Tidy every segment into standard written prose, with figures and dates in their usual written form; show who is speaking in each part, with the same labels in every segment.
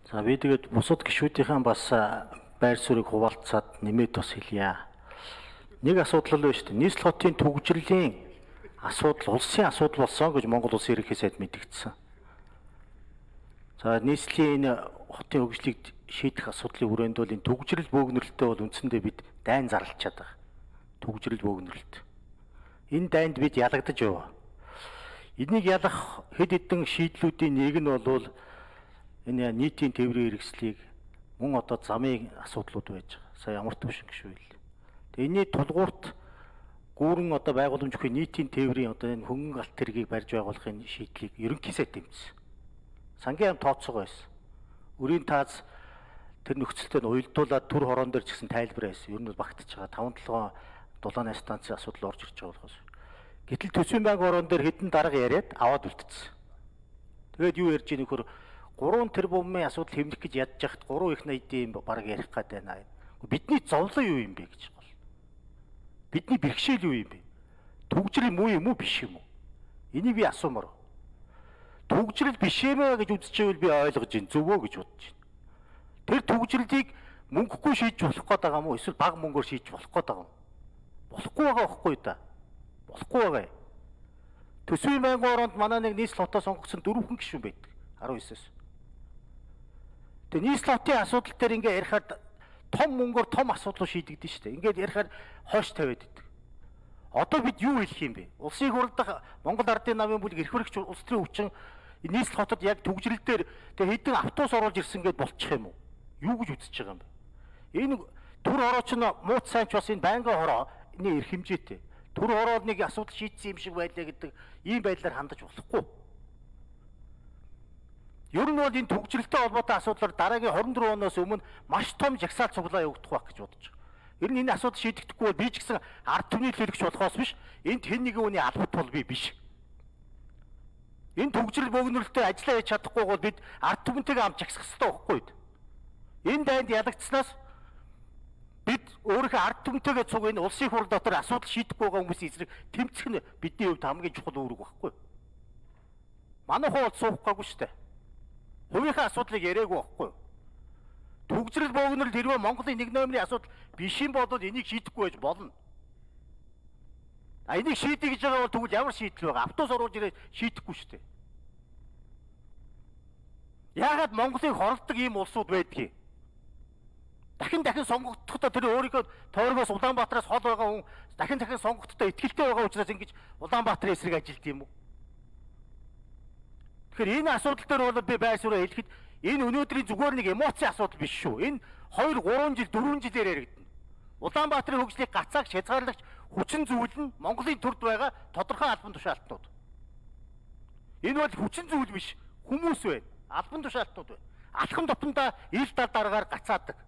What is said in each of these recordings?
Speaker 1: За би тэгээд бусад гишүүдийн бас байр суурийг хуваалцаад нэмээд бас хэлье. Нэг асуудал л байна шүү дээ. Нийслэл хотын төвөгжрлийн асуудал, улсын асуудал болсон гэж Монгол Улсын ерөнхий сайд мэдгдсэн. За нийслэлийн энэ хотын хөгжлийг шийдэх асуудлын хүрээнд бол энэ төвөгжрөл бөөгнөрлөлтөө бол үндсэндээ бид дайн зарлчаад байгаа. Төвөгжрөл бөөгнөрлөлт. Энэ дайнд бид ялагдаж яваа. Энийг ялах хэд хэдэн шийдлүүдийн нэг нь бол энэ нийтийн тээврийн хэрэгслийг мөн одоо замын асуудлууд байж байгаа. Сая ямар төвшин гişүү хэл. Тэгээ энэний тулгуурт гүүрэн одоо байгууламж бүхий нийтийн тээврийн одоо энэ хөнгөн галт тэргийг барьж байгуулахын шийдлийг ерөнхий сайд тэмцсэн. Сангийн яам тооцоогоо байсан. Өрийн тааз тэр нөхцөлтөд уялдуулаад төр хорон дээр ч гэсэн тайлбар байсан. Ер нь багтаж байгаа 5-7 дулааны станцын асуудал орж ирж байгаа болохоос. Гэтэл төсвийн банк орон дээр хэдэн дарга яриад аваад үлдсэн. Тэгээд юу ярьж ийм нөхөр 3 тэрбумын асуудал хэмнэх гэж ядж яхад 3 их найдын баг ярих гээд байна. Бидний зовлон юу юм бэ гэж бол. Бидний бэрхшээл юу юм бэ? Төвөгжрөл муу юм уу биш юм уу? Энийг би асуумаар. Төвөгжрөл биш юмаа гэж үзчихвэл би ойлгож байна. Зөвөө гэж бодож байна. Тэр төвөгжрөлийг мөнгөгүй шийдэж болох гээд байгаа юм уу? Эсвэл бага мөнгөөр шийдэж болох гээд байгаа юм? Болохгүй байгаа байхгүй да. Болохгүй байгаа. Төсвийн банкны оронд манай нэг нийслэл хотоо сонгогдсон 4 хүн гишүүн байдаг. 19-с. Тэгээ нийслэл хотын асуудал дээр ингээ ярихад том мөнгөөр том асуудлыг шийдэгдэн шүү дээ. Ингээд ярихаар хойш тавиад идэг. Одоо бид юу хэлэх юм бэ? Улсын хурлд Монгол Ардын намын бүлэг эрх баригч улс төрийн хүчин нийслэл хотод яг төвөгжрөл дээр тэгээ хэдэн автобус оруулж ирсэн гэдээ болчих юм уу? Юу гэж үзэж байгаа юм бэ? Энэ төр хорооч нь мууц сайн ч бас энэ байнгын хорооны эрх хэмжээтэй. Төр хороол нэг асуудал шийдсэн юм шиг байлаа гэдэг ийм байдлаар хандаж болохгүй. Ер нь бол энэ төвөгжрөлтэй холбоотой асуудлаар дараагийн 24 оноос өмнө маш том жагсаал цуглаа явагдах байх гэж бодож байгаа. Ер нь энэ асуудал шийдэгдэхгүй бол би ч гэсэн ард түмний төлөвлөгч болохоос биш, энд хэн нэгэн хүний албат бол би биш. Энэ төвөгжрөл бөөгнөрлөлтөд ажиллаа хийж чадахгүй бол бид ард түмэнтэйгээ хамт жагсах хэрэгтэй байхгүй юу? Энэ дайнд ялагдсанаас бид өөрийнхөө ард түмэнтэйгээ цуг энэ улсын хурл дотор асуудал шийдэхгүй байгаа хүмүүсийн эсрэг тэмцэх нь бидний хувьд хамгийн чухал үүрэг байхгүй юу? Манай хувьд суухгүйгүй шүү дээ. Хувийнхаа асуудлыг яриаггүй байхгүй юу? Төвөгжрөл бөөгнөрлөлт хэрвээ Монголын нэг номерын асуудал биш юм бол энийг шийдэхгүй байж болно. А энийг шийдэх гэж байгаа бол тэгвэл ямар шийдэл байгаа? Автобус оруулж ирээд шийдэхгүй шүү дээ. Яагаад Монголыг хоролдог ийм улсууд байдгийг? Дахин сонгогдохдоо тэр өөрийнхөө тойргоос Улаанбаатараас хол байгаа хүн дахин сонгогдохдоо итгэлтэй байгаа учраас ингэж Улаанбаатарын эсрэг ажилт юм уу? Тэгэхээр энэ асуудал дээр бол би байр суурь хэлэхэд энэ өнөөдрийн зүгээр нэг эмоцийн асуудал биш шүү. Энэ 2, 3 жил, 4 жилээр яригдана. Улаанбаатарын хөгжлийг гацаагч хязгаарлагч хүчин зүйл нь Монголын төрд байгаа тодорхой албан тушаалтнууд. Энэ бол хүчин зүйл биш, хүмүүс байна. Албан тушаалтнууд байна. Алхам тутамдаа ил дал дараагаар гацаадаг.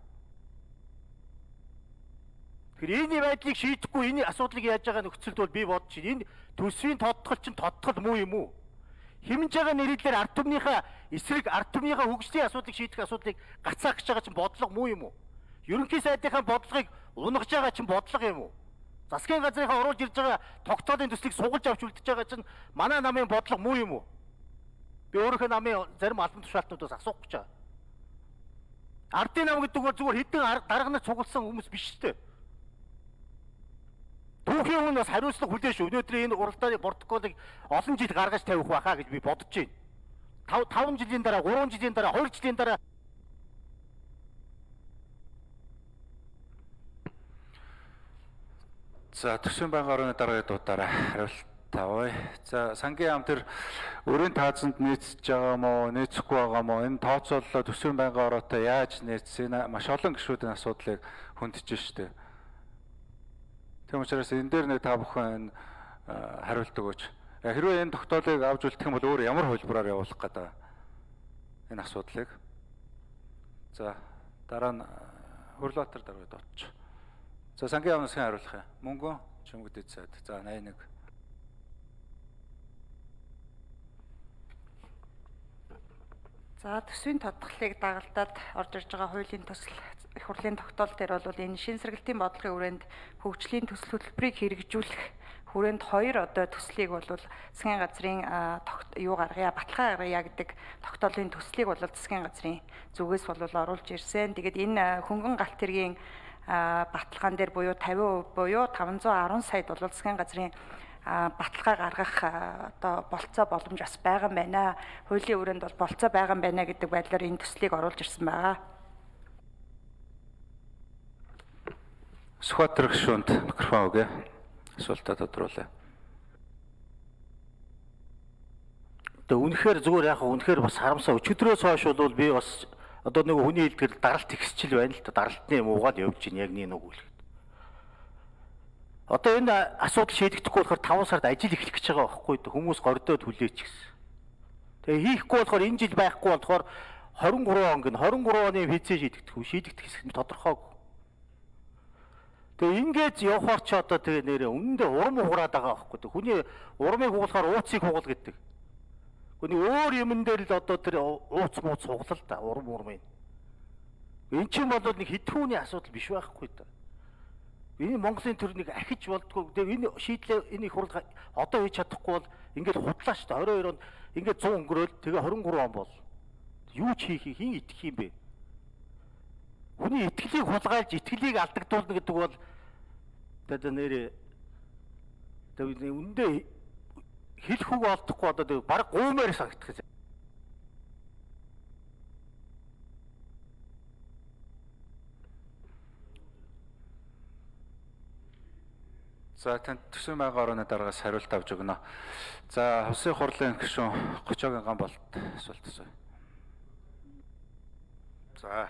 Speaker 1: Тэгэхээр энэ байдлыг шийдэхгүй энэ асуудлыг яаж байгаа нөхцөлд бол би бодож байна. Энэ төсвийн тодтгол чинь тодтгол муу юм уу? Хэмж байгаа нэрэлээр ард түмнийхээ эсрэг ард түмнийхээ хөгжлийн асуудлыг шийдэх асуудлыг гацаах гэж байгаа чинь бодлого муу юм уу? Ерөнхий сайдынхаа бодлогыг унгаж байгаа чинь бодлого юм уу? Засгийн газрынхаа оруулж ирж байгаа тогтоолын төслийг сугалж авч үлдэж байгаа чинь манай намын бодлого муу юм уу? Би өөрийнхөө намын зарим албан тушаалтнуудаас асуух гэж байгаа. Ардын нам гэдэг бол зүгээр хэдэн дарга нар цугласан хүмүүс биш шүү дээ. Түүхийн өмнө бас хариуцлага хүлээж өнөөдрийн энэ уралдааны протоколыг олон жил гаргаж тавих байхаа гэж би бодож байна. 5 жилийн дараа, 3 жилийн дараа, 2 жилийн дараа
Speaker 2: За төсвийн банкны орны дараагийн дуудаараа хариулт авъя. За сангийн яам тэр өрийн таазанд нийцж байгаа мó, нийцэхгүй байгаа мó энэ тооцооллоо төсвийн банкны ороотой яаж нийцсэн маш олон гишүүдийн асуудлыг хөндөж штэ. Тийм учраас энэ дээр нэг та бүхэн хариулт өгөөч. Хэрвээ энэ тогтоолыг авч үлдэх юм бол өөр ямар хөлбөрөөр явуулах гэдэг энэ асуудлыг. За дараа нь Хөрлөбаатар дараагийн дуудч. За сангийн яамнаас хариулах юм. Мөнгөн чимэгдээд сайд. За 81.
Speaker 3: За төсвийн тодголыг дагалдаад орж ирж байгаа хуулийн төсөл их хурлын тогтоол дээр бол энэ шин сэргэлтийн бодлогын хүрээнд хөгжлийн төсөл хөтөлбөрийг хэрэгжүүлэх хүрээнд 2 одоо төслийг бол засгийн газрын юу гаргая, баталгаа гаргая гэдэг тогтоолын төслийг бол засгийн газрын зүгээс бол оруулж ирсэн. Тэгээд энэ хөнгөн галт хэргийн баталгаан дээр буюу 50% буюу 510 саяд бол засгийн газрын баталгаа гаргах одоо болцоо боломж бас байгаа юм байна. Хуулийн өрөөнд бол болцоо байгаа юм байна гэдэг байдлаар энэ төслийг оруулж ирсэн байгаа.
Speaker 2: Сүхбаатар гишүүнд микрофон өгье. Асуултаа тодруулъя.
Speaker 1: Тэгээ үнэхээр зүгээр яг үнэхээр бас харамсаа өчигдрөөс хойш бол би бас одоо нэг хүний хэлдгэр даралт ихсчил байна л та даралтны муугаад явж байна яг нэг үйл. Одоо энэ асуудал шийдэгдэхгүй болохоор 5 сард ажил эхлэх гэж байгаа байхгүй юу? Хүмүүс гордоод хүлээч гэсэн. Тэгээ хийхгүй болохоор энэ жил байхгүй болохоор 23 он гин 23 оны виз шийдэгдэх хэсэг нь тодорхойгүй. Тэгээ ингээд явахаар ч одоо тэгээ нэрээ үнэндээ урам хугараад байгаа байхгүй юу? Хүний урамыг хугалахаар ууцыг хугал гэдэг. Хүний өөр юмн дээр л одоо тэр ууц мууц хугалал та урам. Энд чинь бол нэг хэдхүүний асуудал биш байхгүй юу? Энэ Монголын төрнийг ахиж болдгоо. Тэгээ энэ шийдлээ энэ их хурд одоо хийж чадахгүй бол ингээд худлаа шүү дээ. 22 онд ингээд 100 өнгөрөөл тэгээ 23 он бол юу ч хийх хин итгэх юм бэ? Хүний итгэлийг хулгайлж итгэлийг алдагдуулна гэдэг бол одоо нэрээ тэгээ үндэ хэлэх үг олдохгүй одоо тэгээ баг гуумаар санагдах.
Speaker 2: За танд төсвийн байнгын орооны дараагаас хариулт авч өгнө. За Хувьсын хурлын гишүүн Гочоогийн Гамболт асуулт асууя.
Speaker 4: За